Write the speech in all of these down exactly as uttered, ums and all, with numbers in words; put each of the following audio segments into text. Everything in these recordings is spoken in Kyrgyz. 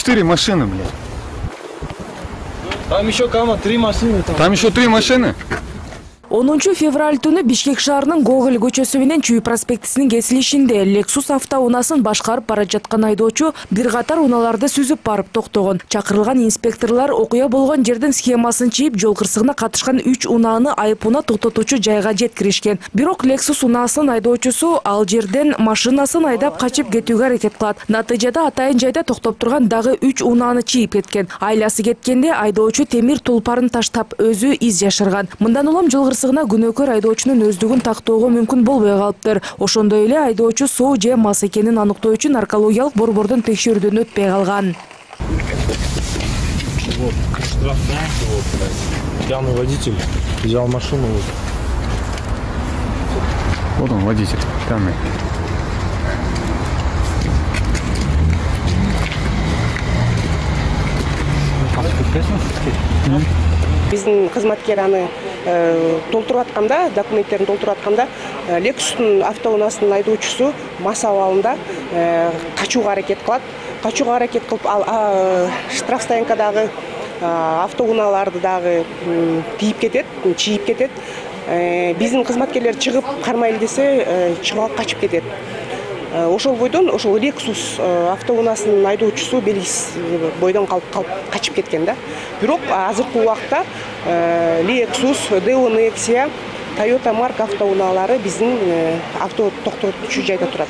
четыре машины, блядь. Там еще кама, три машины. Там, там еще три машины? онунчу февраль түнү Бишкек шаарынын Гоголь көчөсү менен Чүй проспектисинин кесилишинде Lexus автоунаасын башкарып бара жаткан айдоочу бир катар унааларды сүзүп барып токтогон. Чакырылган инспекторлор окуя болгон жердин схемасын чийип, жол кырсыгына катышкан үч унааны айыпуна токтотуучу жайга жеткиришкен. Бирок Lexus унаасынын айдоочусу ал жерден машинасын айдап качып кетүүгө аракет кылат. Натыйжада атайын жайда токтоп турган дагы үч унааны чийип кеткен. Айласы кеткенде айдоочу темир тулпарын таштап өзү из жашырган. Мындан улам жол кырсыгына күнөөкөр айдоочунун өздүгүн тактоого мүмкүн болбой калыптыр. Ошондой эле айдоочу соо же мас экенин аныктоо үчүн наркологиялык борбордун текшерүүдөн өтпөй калган. Пьяный водитель взял машину. Вот он, водитель, пьяный. Биздин кызматкер аны толтуруп атканда, документтерин толтуруп атканда, Lexus'тун автоунаасынын айдоочусу мас абалында качууга аракет кылат. Качууга аракет кылып, ал штраф стоянкадагы автоунааларды дагы тийип кетет, чийип кетет. Биздин кызматкерлер чыгып кармайлы десе, чыгып алып качып кетет. Ошол бойдон ошол Lexus автоунаасынын айдоочусу белгисиз бойдон калып качып кеткен да. Бирок азыркы убакта Lexus, Deo Nexia, Toyota марка автоунаалары биздин авто токтотуучу жайда турат.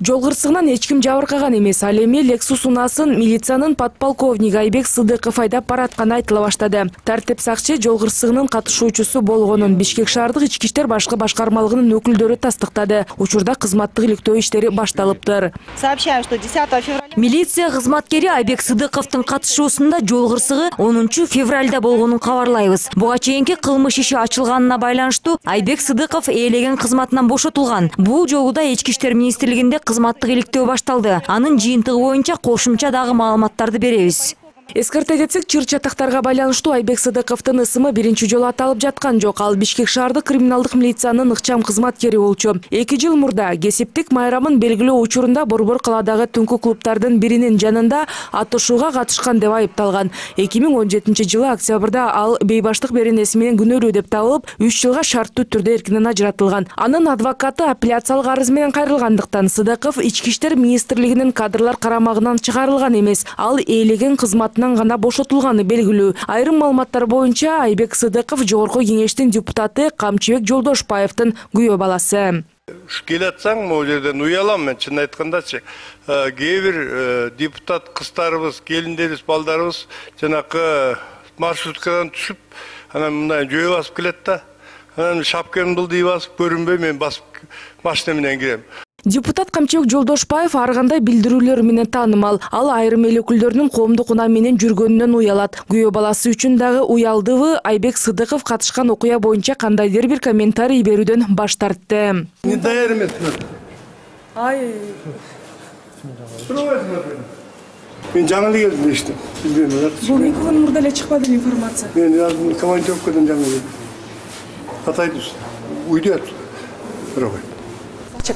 Жол кырсыгынан эч ким жабыркаган эмес. Ал эми Lexus унаасын милициянын подполковниги Айбек Сыдыков айдап баратканы айтыла баштады. Тартип сакчы жол кырсыгынын катышуучусу болгонун Бишкек шаардык ички иштер башкы башкармалыгынын өкүлдөрү тастыктады. Учурда кызматтык иликтөө иштери башталыптыр. Сообщаем, что десятого февраля милиция кызматкери Айбек Сыдыковдун катышуусунда жол кырсыгы онунчу февралда болгонун кабарлайбыз. Буга чейинки кылмыш иши ачылганына байланыштуу Айбек Сыдыков ээлеген кызматынан бошотулган. Бул жолу да ички иштер министрлигинде кызматтык иликтөө башталды. Анын жыйынтыгы боюнча кошумча дагы маалыматтарды беребиз. Эскерте кетсек, чыр-чатактарга байланыштуу Айбек Сыдыковдун ысымы биринчи жолу аталып жаткан жок. Ал Бишкек шаардык криминалдык милициянын ыкчам кызматкери болчу. эки жыл мурда кесиптик майрамын белгилөө учурунда Борбор каладагы түнкү клубтардын биринин жанында атышууга катышкан деп айыпталган. эки миң он жетинчи жылы октябрда ал бейбаштык беренеси менен күнөөлүү деп табылып, үч жылга шарттуу түрдө эркинен ажыратылган. Анын адвокаты апелляциялык арыз менен кайрылгандыктан Сыдыков ички иштер министрлигинин кадрлар карамагынан чыгарылган эмес. Ал ээлеген кызматын гана бошотулганы белгилүү. Айрым маалыматтар боюнча Айбек Сыдыков жогорку кеңештин депутаты Камчыбек Жолдошбаевдин күйөө баласы. Келатсаң, могу жерден уялам мен, чын айткандачы. Кээ бир депутат кыздарыбыз, келиндерибиз, балдарыбыз жанакы маршруткадан түшүп, анан мындай жөө басып келет да. Анан шапкамды былдый басып көрүнбөй мен басып машина менен кирем. Депутат Камчыбек Жолдошбаев ар кандай билдирүүлөр менен таанымал. Ал айрым эл өкүлдөрүнүн коомдук унаа менен жүргөнүнөн уялат. Күйөө баласы үчүн дагы уялдыбы Айбек Сыдыков катышкан окуя боюнча кандайдыр бир комментарий берүүдөн баш тартты. Не даяр эмес. Ай. Мен жаңы эле келдим эштеп. Бул эки күн мурда эле чыкпады информация. Мен командировкадан жаңы келдим. Атайбыз. Уйдат. Робот.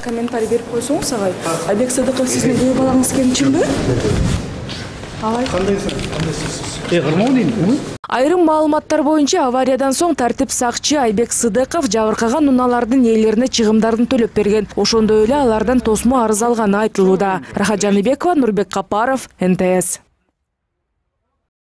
Комментарий берип койсоңуз агай. Айбек Сыдыков сиздин күйөө балаңыз экени чынбы? Алай. Кандайсыз? Э, кырмоо дейм. Айрым маалыматтар боюнча авариядан соң тартип сакчы Айбек Сыдыков жабыркаган унаалардын ээлерине чыгымдарын төлөп берген. Ошондой эле алардан тосмо арыз алганы айтылууда. Рахат Жаныбекова, Нурбек Капаров, эн тэ эс.